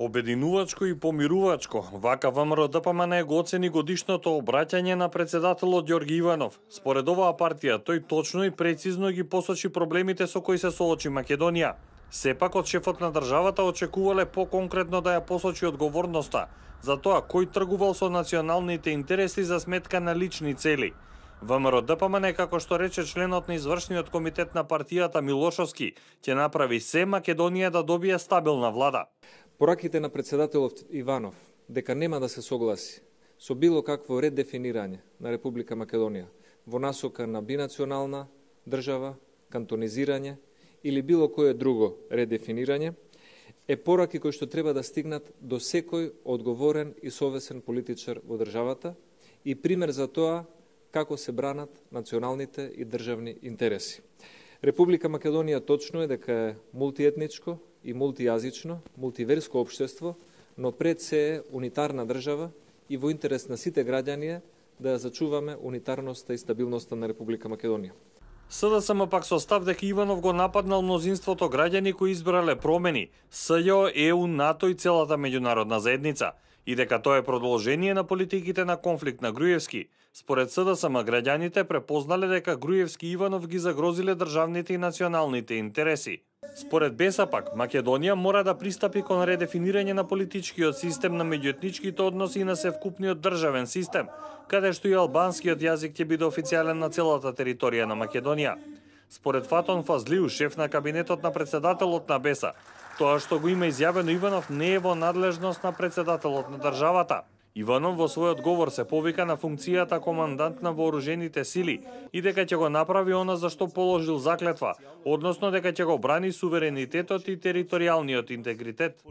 Обединувачко и помирувачко, вака ВМРО-ДПМН го оцени годишното обраќање на председателот Ѓорги Иванов. Според оваа партија, тој точно и прецизно ги посочи проблемите со кои се соочи Македонија. Сепак од шефот на државата очекувале поконкретно да ја посочи одговорноста за тоа кој тргувал со националните интереси за сметка на лични цели. ВМРО-ДПМН, како што рече членот на извршниот комитет на партијата Милошовски, ќе направи се Македонија да добие стабилна влада. Пораките на председателот Иванов дека нема да се согласи со било какво редефинирање на Република Македонија во насока на бинационална држава, кантонизирање или било кое друго редефинирање, е пораки кои што треба да стигнат до секој одговорен и совесен политичар во државата и пример за тоа како се бранат националните и државни интереси. Република Македонија точно е дека е мултиетничко и мултијазично, мултиверско општество, но пред се е унитарна држава и во интерес на сите граѓани е да ја зачуваме унитарноста и стабилноста на Република Македонија. СДСМ пак со став дека Иванов го нападнал мнозинството граѓани кои избрале промени, СЈО, ЕУ, НАТО и целата меѓународна заедница, и дека тоа е продолжение на политиките на конфликт на Груевски. Според СДСМ, граѓаните препознале дека Груевски и Иванов ги загрозиле државните и националните интереси. Според БЕСА пак, Македонија мора да пристапи кон редефинирање на политичкиот систем на меѓуетничките односи и на севкупниот државен систем, каде што и албанскиот јазик ќе биде официјален на целата територија на Македонија. Според Фатон Фазлиу, шеф на кабинетот на председателот на БЕСА, тоа што го има изјавено Иванов не е во надлежност на председателот на државата. Иванов во својот говор се повика на функцијата командант на вооружените сили и дека ќе го направи она за што положил заклетва, односно дека ќе го брани суверенитетот и територијалниот интегритет.